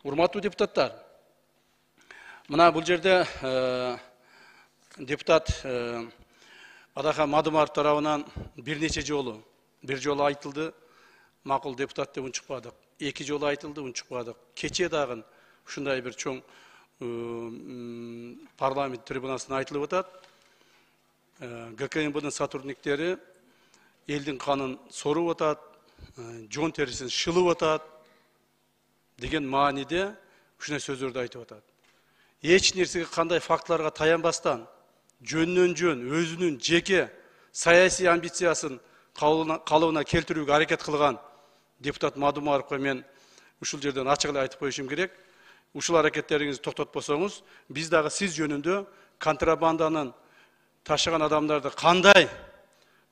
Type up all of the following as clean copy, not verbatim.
Урматтуу депутаттар, мына бул жерде депутат Адахан Мадумаров тарабынан бир нече жолу, бир жолу айтылды, макул депутат деп унчукпадык. Эки жолу айтылды, унчукпадык. Кече дагы ушундай бир чоң парламент трибунасына айтылып атат. ГКМБдын сотрудниктери элдин канын соруп атат, жон терисин шылып атат деген мааниде ушундай сөздөрдү айтып атат. Эч нерсеге кандай фактыларга таянбастан, жөндөн жөн өзүнүн жеке саясий амбициясын калыбына келтирүүгө аракет кылган депутат Мадумаровго мен ушул жерден ачык эле айтып коюшум керек. Ушул аракеттериңизди токтотпосоңуз, биз дагы сиз жөнүндө контрабанданын ташыган адамдарды кандай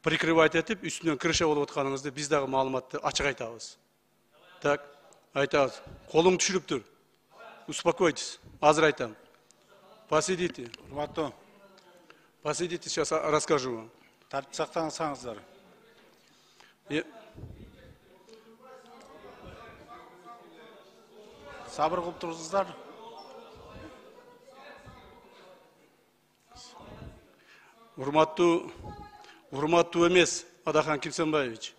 прикрывать этип, үстүнөн крыша болуп атканыңызды биз дагы маалыматты ачык айтабыз. Так, айтабыз. Колуң түшүрүп тур. Успокойтесь. Азыр айтам. Посидите. Урматтуу. Посидите, сейчас расскажу вам. Тартип сактаңыздар. Сабыр кылып туруңуздар. Урматтуу эмес Адахан Кимсенбаевич.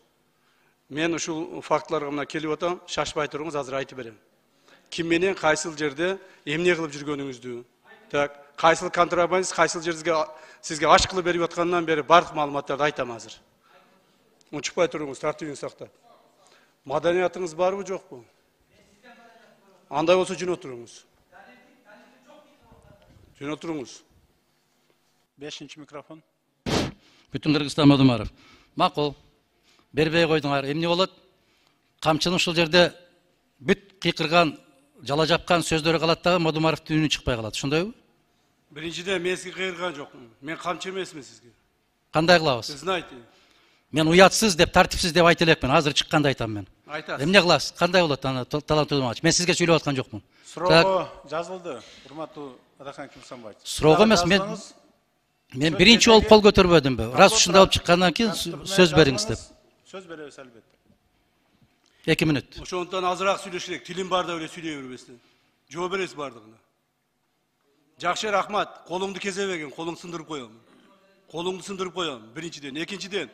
Мен ушул фактыларга мына келип атам, шашпай туруңуз, азыр айтып берем. Ким менен кайсыл жерде эмне кылып жүргөнүңүздү, так, кайсыл контрабандист, кайсыл жерге сизге аш кылып берип аткандан бери бардык маалыматтарды айтам азыр. Унчукпай туруңуз, тартибиңизди сактап. Маданиятыңыз барбы, жокпу? Андай болсо жөн отуруңуз. Жөн отуруңуз. 5-чи микрофон. Бүтүн Кыргызстан Мадумаров. Макул. Бербей койдуңар. Эмне болот? Камчынын ушул жерде бүт кыйкырган, жала жапкан сөздөрү калат дагы Мадумаровдун үнү чыкпай калат. Ошондойбу? Биринчиден мен сизге кыйырган жокмун. Мен камчы эмесмин сизге. Кандай кылабыз? Знаете. Мен уятсыз деп, тартипсиз деп айта элекмин. Азыр чыкканда айтам мен. Айтасыз. Эмне кыласыз? Кандай болот аны талантуудумач? Мен сизге сүйлөп аткан жокмун. Суроого жазылды. Урматтуу Адахан Кимсенбаевич. Суроого эмес, мен биринчи болуп кол көтөрбөдүмбү. Раз ушундай болуп чыккандан кийин сөз бериңиз деп. Сөз беребиз албетте. 2 мүнөт. Ошондон азыраак сүйлөш керек. Тилим барда эле сүйлөй бербестен. Жооп бересиз бардыгына. Жакшы, рахмат. Колуңду кезебегин, колуң сындырып коем. Колуңду сындырып коем. Биринчиден, экинчиден.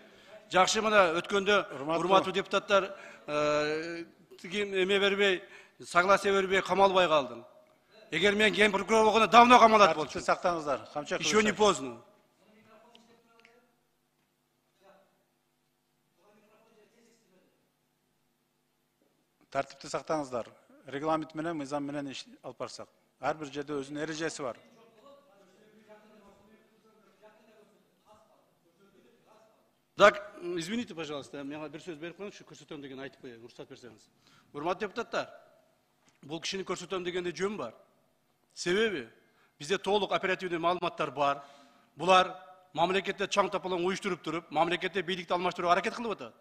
Жакшы, мына өткөндө урматтуу депутаттар эме бербей, согласие бербей камалбай калдым. Эгер мен ген прокурор болгондо давно камалат болчу. Сактаңыздар. Еще не поздно. Тартипти сактаңыздар. Регламент менен, мыйзам менен иш алып барсак. Ар бир жерде өзүнүн эрежеси бар. Так, извините, пожалуйста, мага бир сөз берип коюңузчу, көрсөтөм деген айтып коеюн, уруксат берсеңиз. Урматтуу депутаттар, бул кишини көрсөтөм дегенде жөн бар. Себеби бизде толук оперативдүү маалыматтар бар. Булар мамлекетте чаң тапалаң уюштуруп туруп, мамлекетте бийликти алмаштырууга аракет кылып атат.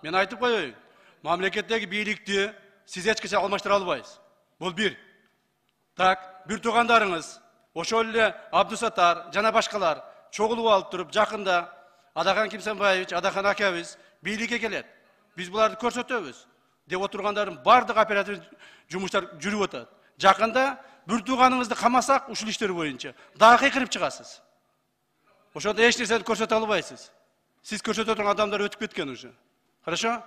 Мен айтып коеюн, мамлекеттеги бийликти сиз эч качан алмаштыра албайсыз. Бул бир. Так, бир туугандарыңыз, ошол эле Абдусаттар жана башкалар чогулуп алып туруп, жакында Адахан Кимсенбаевич, Адахан акабыз бийликке келет. Биз буларды көрсөтөбүз деп отургандардын бардык оператив жумуштар жүрүп атат. Жакында бир тууганыңызды камасак, ушул иштер боюнча дагы кыйкырып чыгасыз. Ошондо эч нерсени көрсөтө албайсыз. Сиз көрсөтө турган адамдар өтүп кеткен уже. Хорошо?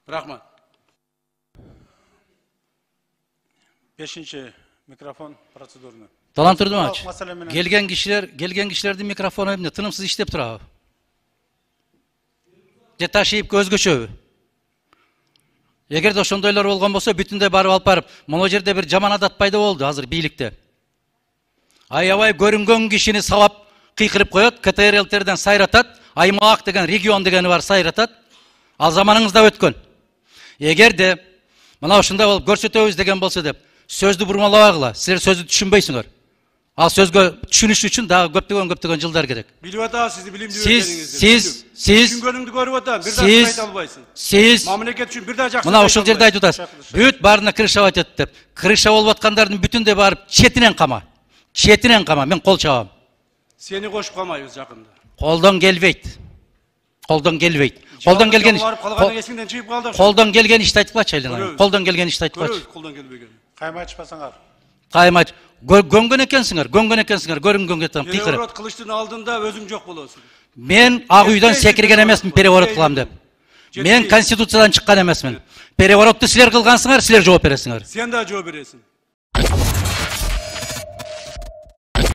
Рахмат. 5-чи микрофон процедурный. Талантурдумач. Келген кишилердин микрофону эмне тынымсыз иштеп турабы? Же ташыйып өзгөчөбү? Эгерде ошондойлор болгон болсо, бүтүндөй барып алып барып, могу жерде бир жаман адат пайда болду азыр бийликте. Аябай көрүнгөн кишини сабап кыйкырып коет, КТРЛтерден сайратат, аймак деген, регион дегени бар сайратат. Ал заманыңызда өткөн. Эгерде мына ушундай болуп көрсөтөбүз деген болсо деп, сөздү бурмалабагыла. Силер сөздү түшүнбөйсүңөр. Ал сөзгө түшүнүш үчүн дагы көптөгөн жылдар керек. Билип атабыз сизди билимдүү экениңизди. Сиз түшүнгөнүңдү көрүп атам, бир дагы айта албайсың. Сиз мамлекет үчүн бир дагы жакшы. Мына ушул жерде айтып атасыз. Бүт баарына крыша атат деп. Крыша болуп аткандардын бүтүндөй барып четинен кама. Четинен кама, мен кол чабам. Сени кошуп камайбыз жакында. Колдон келбейт. Колдон келбейт. Колдон келген барып калган эсиңден чыгып калды. колдон келген ишти айтып айылыңа. Көрөбүз. Колдон келген ишти айтып Көрөбүз колдон келбеген. Кайма айтышпасаңар. Кайма гөнгөн экенсиңер, көрүнгөн кетем кыйкырып. Переворот кылыштын алдында өзүң жок болосуң. Мен ак үйдөн секирген эмесмин переворот кылам деп. Мен конституциядан чыккан эмесмин. Переворотту силер кылгансыңар, силер жооп бересиңер. Сен да жооп бересиң.